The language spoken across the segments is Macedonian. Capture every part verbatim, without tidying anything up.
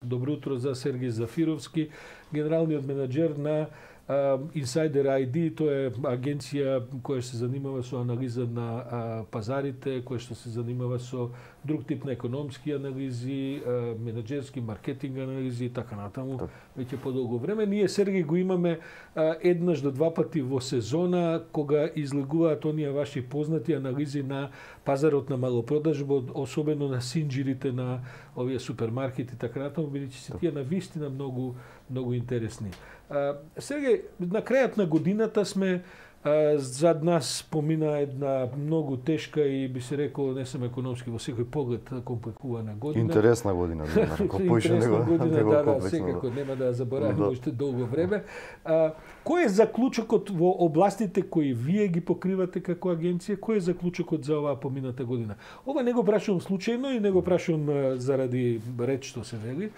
Добро утро за Сергеј Зафировски, генералниот менаџер на uh, Insider ай ди. Тоа е агенција која се занимава со анализа на uh, пазарите, која што се занимава со друг тип на економски анализи, uh, менаџерски, маркетинг анализи и така натаму. Так. Веќе подолго време. Ние, Сергеј, го имаме uh, еднаш до два пати во сезона, кога излегуваат оние ваши познати анализи на пазарот на малопродажба, особено на синџирите на овие супермаркети и така натаму, бидејќи се тие на вистина многу многу интересни. А, Сергеј, на крајот на годината сме, а, зад нас помина една многу тешка и би се рекол, не сум економски во секој поглед, компликувана година. Интересна година, да, интересна година, да, да, секако нема да забораваме уште да. долго време. А, кој е заклучокот во областите кои вие ги покривате како агенција? Кој е заклучокот за оваа помината година? Ова не го прашувам случајно и не го прашувам заради реч што се вели,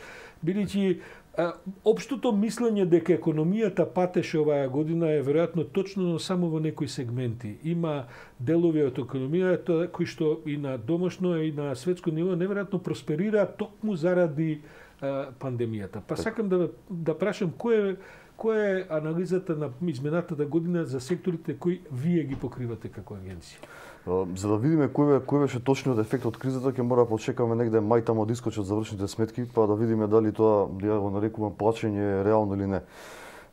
бидејќи општото мислење дека економијата патеше оваа година е веројатно точно, но само во некои сегменти. Има делови од економијата кои што и на домашно и на светско ниво неверојатно просперираат токму заради а, пандемијата. Па сакам да да прашам кој е која е анализата на изминатата година за секторите кои вие ги покривате како агенција? За да видиме кој, кој беше точниот ефект од кризата, ќе мора да почекаме негде мај таму да искочат завршните сметки, па да видиме дали тоа, ја го нарекувам, плачење е реално или не.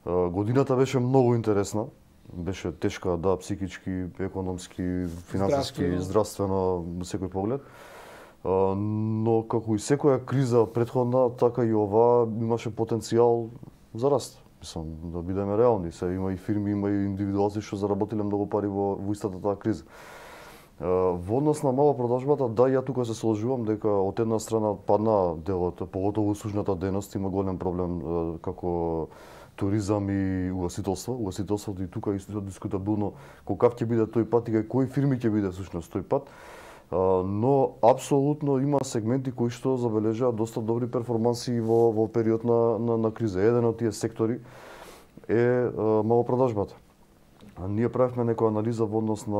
Годината беше многу интересна, беше тешка, да, психички, економски, финансиски, здравствено, здравствено во секој поглед. Но како и секоја криза претходна, така и ова имаше потенцијал за раст. Мислам, да бидеме реални, се има и фирми, има и индивидуалци што заработиле многу пари во, во истата таа криза. Во однос на малопродажбата, да, ја тука се сложувам дека од една страна падна делот, поготово услужната дејност има голем проблем како туризам и угостителство. Угостителството и тука исто дискутабилно колкав ќе биде тој пат и кои фирми ќе биде всушност тој пат. Но апсолутно има сегменти кои што забележаат доста добри перформанси во во период на на, на криза. Еден од тие сектори е малопродажбата. Ние правевме некоја анализа во однос на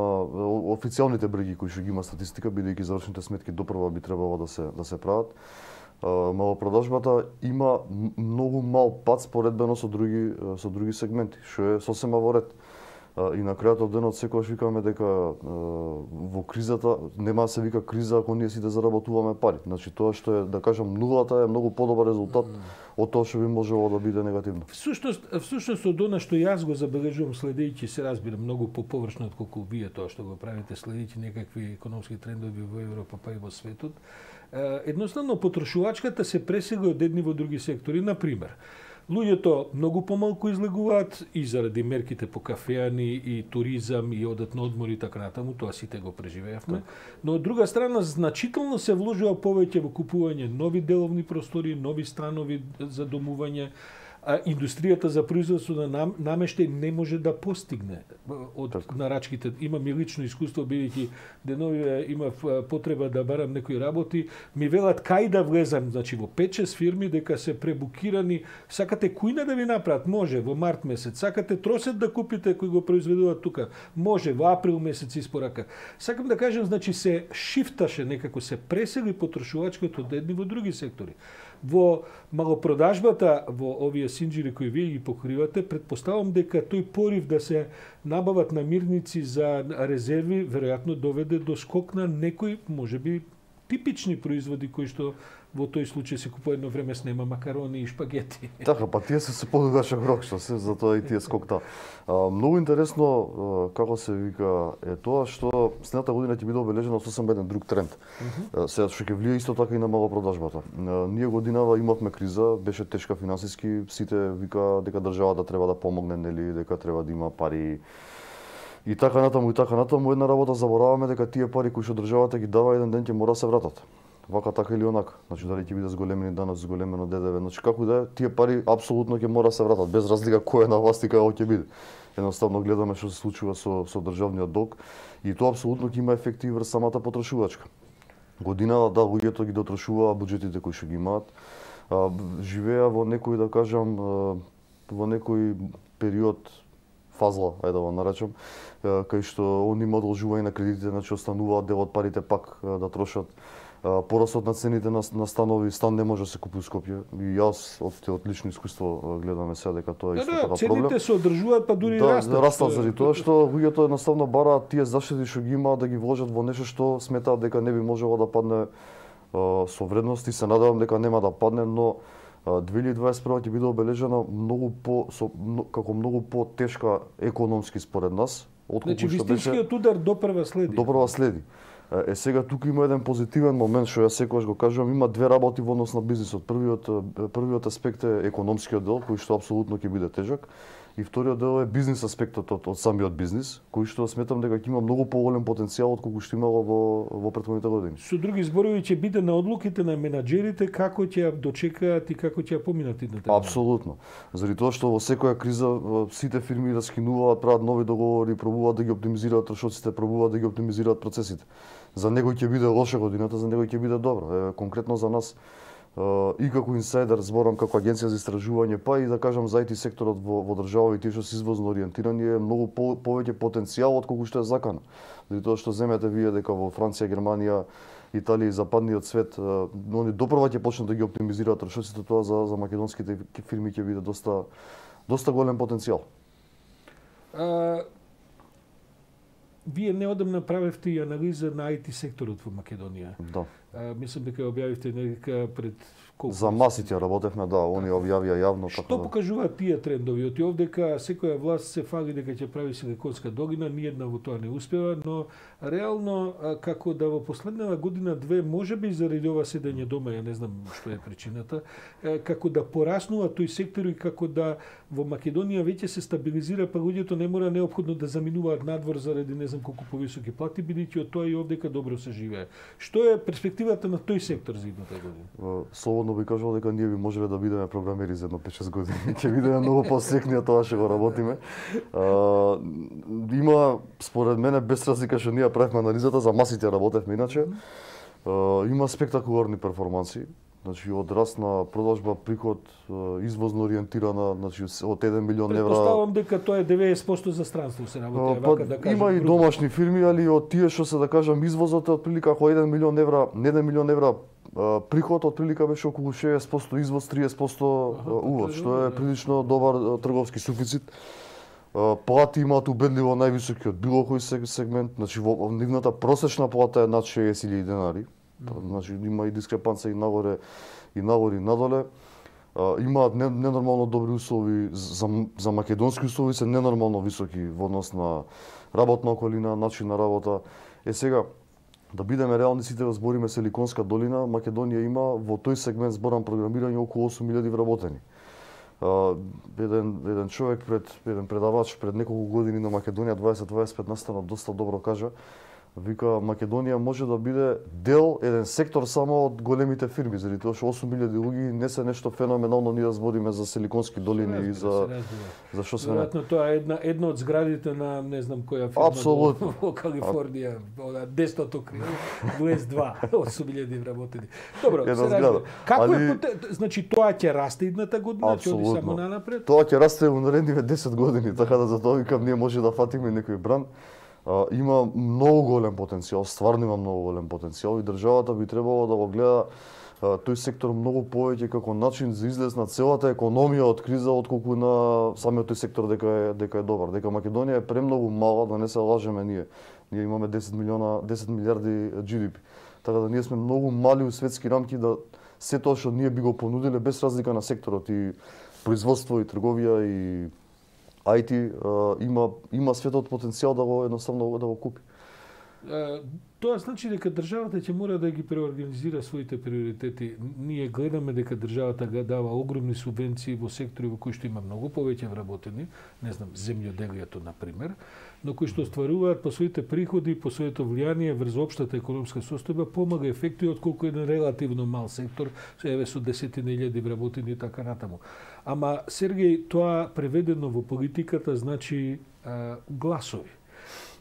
официјалните бреги кои што ги има статистика, бидејќи завршните сметки допрва би требало да се да се прават. Малопродажбата има многу мал пат споредбено со други со други сегменти, што е сосема во ред. И на крајот од денот секогаш викаме дека во кризата нема да се вика криза ако ние сите заработуваме пари. Значи тоа што е, да кажам, нулата е многу подобар резултат од тоа што би можело да биде негативно. Всушност, всушност од она што јас го забележувам следејќи, се разбира многу поповршно отколку вие тоа што го правите, следејќи некакви економски трендови во Европа па и во светот, едноставно потрошувачката се пресега од едни во други сектори. На пример, луѓето многу помалку излегуваат и заради мерките по кафеани и туризам и одат на одмор и така натаму, тоа сите го преживеавме. Но од друга страна значително се вложува повеќе во купување нови деловни простори, нови станови за домување. А индустријата за производство на нам, намештај не може да постигне од так. нарачките. Имам и лично искуство, бидејќи денови имав потреба да барам некои работи, ми велат кај да влезам, значи во пет-шест фирми дека се пребукирани, сакате кујна да ви направат, може во март месец, сакате тросет да купите кој го произведуваат тука, може во април месец испорака. Сакам да кажам, значи се шифташе некако, се пресели потрошувачкото од едни во други сектори. Во малопродажбата, во овие синџири кои вие ги покривате, предпоставам дека тој порив да се набават намирници за резерви веројатно доведе до скок на некои, можеби, типични производи кои што во тој случај се купува едно време снема макарони и шпагети. Така, па тие се се подугаше рок, што се, затоа и тие скокта. А, многу интересно, како се вика, е тоа што следната година ќе биде обележена сосем еден друг тренд. Uh -huh. Сега што ќе влие исто така и на малопродажбата. Ние годинава имавме криза, беше тешка финансиски, сите вика дека државата треба да помогне, нели, дека треба да има пари. И така натаму, и така натаму, една работа забораваме дека тие пари кои што државата ги дава еден ден ќе мора да се вратат. Вака, така или онака. Значи дали ќе биде зголемени даноци, зголемено ДДВ, значи како да е, тие пари апсолутно ќе мора да се вратат, без разлика кој е на власт и кај ќе биде. Едноставно гледаме што се случува со со државниот долг и тоа апсолутно ќе има ефекти врз самата потрошувачка. Годинава, да, луѓето ги дотрошуваа буџетите кои што ги имаат, живеа во некој, да кажам, во некој период фазла, ајде да го наречам, кај што они има одолжување на кредитите, значи остануваат дел од парите пак да трошат. порастот на цените на, на станови, стан не може да се купи у Скопје. И јас од од лично искуство гледаме сега дека тоа е исто да, така проблем. цените се одржуваат, па дури да, растат. Да, растат заради тоа што луѓето едноставно бараат тие заштити што ги имаат да ги вложат во нешто што сметаат дека не би можело да падне а, со вредност и се надевам дека нема да падне, но две илјади дваесет и прва ќе биде обележена многу по со, како многу по-тешка економски според нас, отколку значи, што беше. вистинскиот удар допрва следи. Допрва следи. Е, сега тука има еден позитивен момент што јас секогаш го кажувам, има две работи во однос на бизнисот. Првиот првиот аспект е економскиот дел, кој што апсолутно ќе биде тежак, и вториот дел е бизнис аспектот од, од самиот бизнис, кој што сметам дека ќе има многу поголем потенцијал од колку што имало во во претходните години. Со други зборови ќе биде на одлуките на менаџерите како ќе ја дочекаат и како ќе ја поминат идната. Апсолутно. Заради тоа што во секоја криза сите фирми раскинуваат, прават нови договори, пробуваат да ги оптимизираат трошоците, пробуваат да ги оптимизираат процесите. За некој ќе биде лоша годината, за некој ќе биде добра. Е, конкретно за нас и како инсайдер, зборам како агенција за истражување, па и да кажам за ай ти секторот во, во држава и тие што се извозно ориентирани е многу по, повеќе потенцијал од колку што е закана. Заради тоа што земете вие дека во Франција, Германија, Италија и западниот свет, они допрва ќе почнат да ги оптимизираат трошоците, тоа за, за македонските фирми ќе биде доста доста голем потенцијал. А, вие неодамна правевте и анализа на ай ти секторот во Македонија. Да. А, мислам дека објавивте нека пред колку? За масите работевме, да, они објавија јавно. Што така да. покажуваат тие трендови? Оти овдека секоја власт се фали дека ќе прави силиконска долина, ниедна во тоа не успева, но реално како да во последнава година две, можеби заради ова седење дома, ја не знам што е причината, како да пораснува тој сектор и како да во Македонија веќе се стабилизира, па луѓето не мора неопходно да заминуваат надвор заради не знам колку повисоки плати, бидејќи од тоа и овдека добро се живее. Што е перспективата на тој сектор за идната година? Слободно би кажал дека ние би можеле да бидеме програмери за едно пет-шест години. Ќе бидеме многу посекни од тоа што го работиме. А, има според мене без разлика што ние правевме анализата, за масите работевме иначе. А, има спектакуларни перформанси. Значи од раст на продажба, приход, извозно ориентирана, значи од еден милион евра. Предпоставувам дека тоа е деветдесет проценто за странство се работи, па, вака да кажам. Има и домашни фирми, али од тие што се да кажам извозот е отприлика ако еден милион евра, еден милион евра приход, отприлика беше околу шеесет проценто извоз, триесет проценто увоз, што е прилично добар трговски суфицит. Плати имаат убедливо највисоки од било кој сегмент, значи во нивната просечна плата е над шеесет илјади денари. Значи има и дискрепанца и нагоре и нагоре и надоле. А, имаат ненормално добри услови за, за македонски услови се ненормално високи во однос на работна околина, начин на работа. Е сега да бидеме реални, сите да збориме Силиконска долина, Македонија има во тој сегмент зборам програмирање околу осум илјади вработени. А, еден еден човек пред еден предавач пред неколку години на Македонија дваесет дваесет пет настана доста добро кажа. Вика, Македонија може да биде дел, еден сектор само од големите фирми, заради тоа што осум илјади луѓе не се нешто феноменално ние да збориме за Силиконски долини и за за што се не. Веројатно тоа е една една од зградите на не знам која фирма Апсолутно. во Калифорнија, она десетото крило, дваесет два, осум илјади вработени. Добро, една се зграда. разбира. Како Али... е поте... значи тоа ќе расте идната година, ќе оди само нанапред? Тоа ќе расте во наредните десет години, така да за тоа викам ние може да фатиме некој бран. А, има многу голем потенцијал, стварно има многу голем потенцијал и државата би требало да го гледа а, тој сектор многу повеќе како начин за излез на целата економија од криза отколку на самиот тој сектор дека е дека е добар. Дека Македонија е премногу мала, да не се лажеме ние. Ние имаме десет милиона, десет милиарди джи ди пи. Така да ние сме многу мали у светски рамки да се тоа што ние би го понудиле без разлика на секторот и производство и трговија и ай ти а, има има светот потенцијал да го едноставно да го купи. А, тоа значи дека државата ќе мора да ги преорганизира своите приоритети. Ние гледаме дека државата ga дава огромни субвенции во сектори во кои што има многу повеќе вработени, не знам, земјоделието на пример, но кои што остваруваат по своите приходи, по своето влијание врз општата економска состојба помага ефекти отколку еден релативно мал сектор, еве со десетина илјади вработени и така натаму. Ама Сергеј, тоа преведено во политиката значи а, гласови.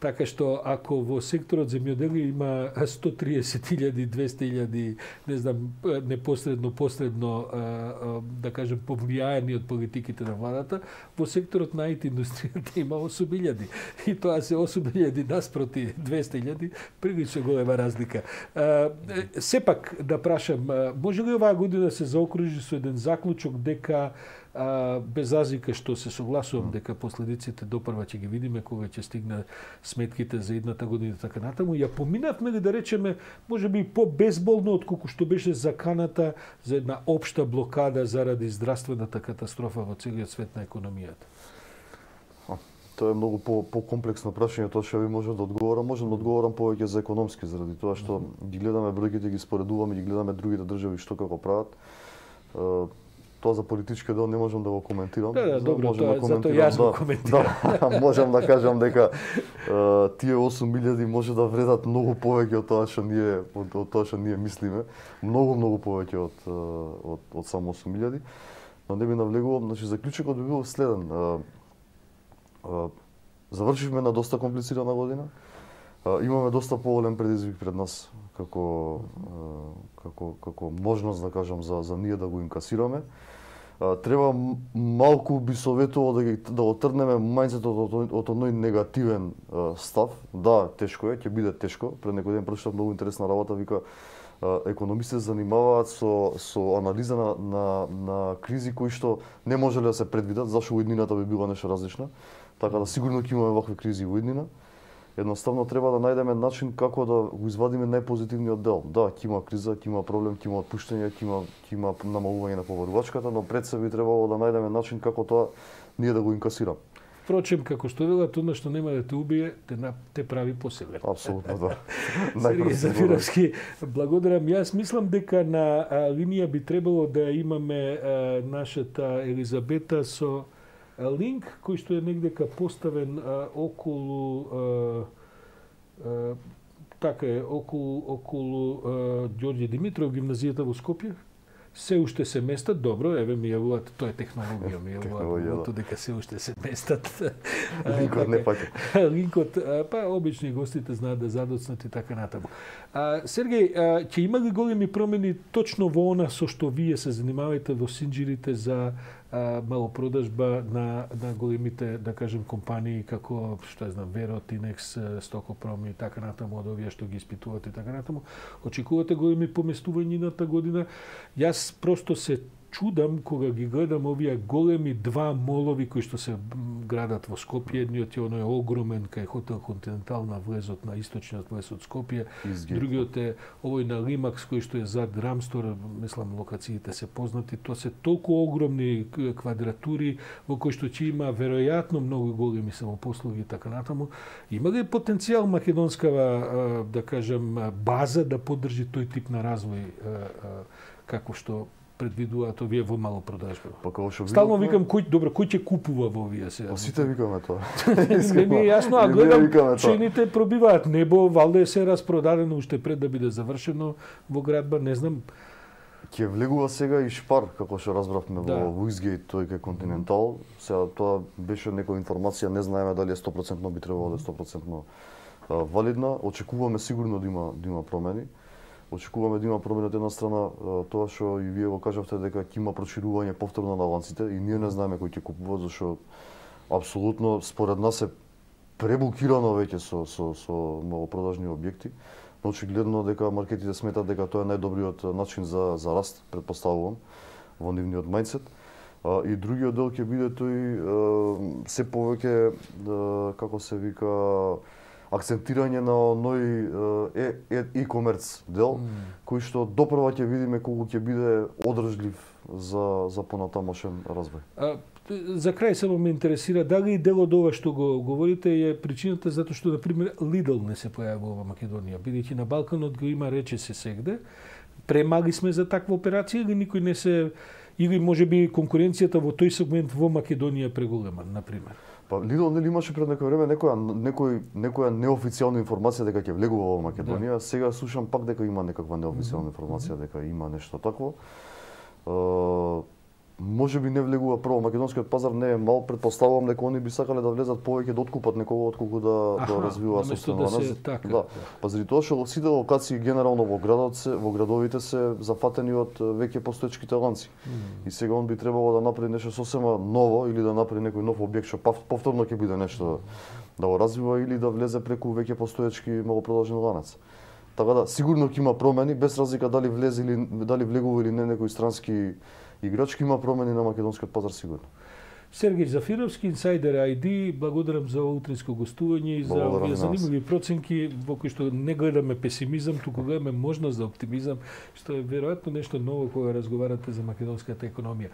Така што ако во секторот земјоделие има сто триесет илјади, двесте илјади, не знам, непосредно, посредно, да кажем, повлијаени од политиките на владата, во секторот на ай ти индустријата има осум илјади. И тоа се осум илјади наспроти двесте илјади, прилично голема разлика. Сепак да прашам, може ли оваа година се заокружи со еден заклучок дека А, без разлика што се согласувам дека последиците допрва ќе ги видиме кога ќе стигне сметките за едната година така натаму, ја поминавме ли да речеме можеби по-безболно отколку што беше заканата за една општа блокада заради здравствената катастрофа во целиот свет на економијата? Тоа е многу по по-комплексно прашање, тоа што ви можам да одговорам, можам да одговорам повеќе за економски заради тоа што ги гледаме бројките, ги споредуваме, ги гледаме другите држави што како прават. Тоа за политички дел не можам да го коментирам. Да, да, добро, тоа, да затоа јас го коментирам. Да, можам да кажам дека uh, тие осум илјади може да вредат многу повеќе од тоа што ние од, од тоа што ние мислиме, многу многу повеќе од од од само осум илјади. Но не би навлегувам, значи заклучокот би бил следен. Uh, uh, завршивме на доста комплицирана година. Uh, имаме доста поголем предизвик пред нас како uh, како како можност да кажам за за ние да го инкасираме. Треба малку би советувал да, да отрнеме мајндсетот од, од оној негативен а, став. Да, тешко е, ќе биде тешко. Пред некој ден прочитав многу интересна работа, вика економисти се занимаваат со со анализа на на на кризи кои што не можеле да се предвидат, зашто во иднината би била нешто различно. Така да сигурно ќе имаме вакви кризи во иднина. Едноставно треба да најдеме начин како да го извадиме најпозитивниот дел. Да, ќе има криза, ќе има проблем, ќе има отпуштање, ќе има ќе има намалување на побарувачката, но пред се би требало да најдеме начин како тоа ние да го инкасираме. Впрочем, како што велат, она што нема да те убие, те, те прави посилен. Апсолутно, да. Сергеј Зафировски, благодарам. Јас мислам дека на а, линија би требало да имаме а, нашата Елизабета со линк кој што е негдека поставен а, околу а, а, така е околу околу а, Ѓорѓе Димитров, гимназијата во Скопје. Се уште се местат, добро, еве ми јавуваат, тоа е технологија, ми јавуваат да. Дека се уште се местат. Линкот не паќа. Линкот, па обични гостите знаат да задоцнат и така натаму. А, Сергеј, а, ќе има ли големи промени точно во она со што вие се занимавате во синџирите за а, малопродажба на, на големите, да кажем, компании како, што ја знам, Веро, Тинекс, Стокопром и така натаму, од овие што ги испитувате и така натаму. Очекувате големи поместувања едната година? Јас просто се чудам кога ги гледам овие големи два молови кои што се градат во Скопје. Едниот е оној огромен кај Хотел Континентал на влезот на источниот влез од Скопје. Изгиб. Другиот е овој на Лимакс кој што е зад Рамстор, мислам локациите се познати. Тоа се толку огромни квадратури во кои што ќе има веројатно многу големи самопослуги и така натаму. Има ли потенцијал македонскава, да кажем, база да поддржи тој тип на развој како што предвидуваат овие во малопродажба? Па како што стално викам кој добро кој ќе купува во овие сега. Сите викаме тоа. Не ми е јасно, а гледам цените пробиваат небо, валде се распродадено уште пред да биде завршено во градба, не знам. Ќе влегува сега и Шпар, како што разбравме да. Во Уизгейт, тој кај Континентал. Сега тоа беше некоја информација, не знаеме дали е сто проценти би требало да е сто проценти валидна. Очекуваме сигурно да има да има промени. Очекуваме да има промени од една страна, тоа што и вие го кажавте дека ќе има проширување повторно на ланците и ние не знаеме кој ќе купува, зашто апсолутно според нас е пребукирано веќе со со со малопродажни објекти. Но очигледно дека маркетите сметат дека тоа е најдобриот начин за за раст, предпоставувам, во нивниот мајндсет. И другиот дел ќе биде тој се повеќе како се вика акцентирање на оној e-commerce дел, mm. кој што допрва ќе видиме колку ќе биде одржлив за за понатамошен развој. А, за крај само ме интересира дали дел од ова што го говорите е причината затоа што на пример Lidl не се појавува во Македонија, бидејќи на Балканот го има рече се сегде. Премали сме за таква операција или никој не се или можеби конкуренцијата во тој сегмент во Македонија е преголема, на пример. Па Lidl нели имаше пред некој време некоја некој некоја неофицијална информација дека ќе влегува во Македонија. Да. Сега слушам пак дека има некаква неофицијална информација дека има нешто такво. Uh, може би не влегува прво. Македонскиот пазар не е мал, претпоставувам дека они би сакале да влезат повеќе да откупат некого отколку да Аха, да развиваат наместо собствено. да се така. Да. Па заради тоа што сите локации генерално во градот се, во градовите се зафатени од веќе постоечките ланци. Mm. И сега он би требало да направи нешто сосема ново или да направи некој нов објект што пав- повторно ќе биде нешто да го развива или да влезе преку веќе постоечки малопродолжен ланец. Така да сигурно ќе има промени без разлика дали влезе или дали влегува или не некој странски играч, ќе има промени на македонскиот пазар сигурно. Сергеј Зафировски, Инсайдер ај ди, благодарам за утринско гостување и за Благодарам овие на вас. занимави проценки во кои што не гледаме песимизам, туку гледаме можност за оптимизам, што е веројатно нешто ново кога разговарате за македонската економија.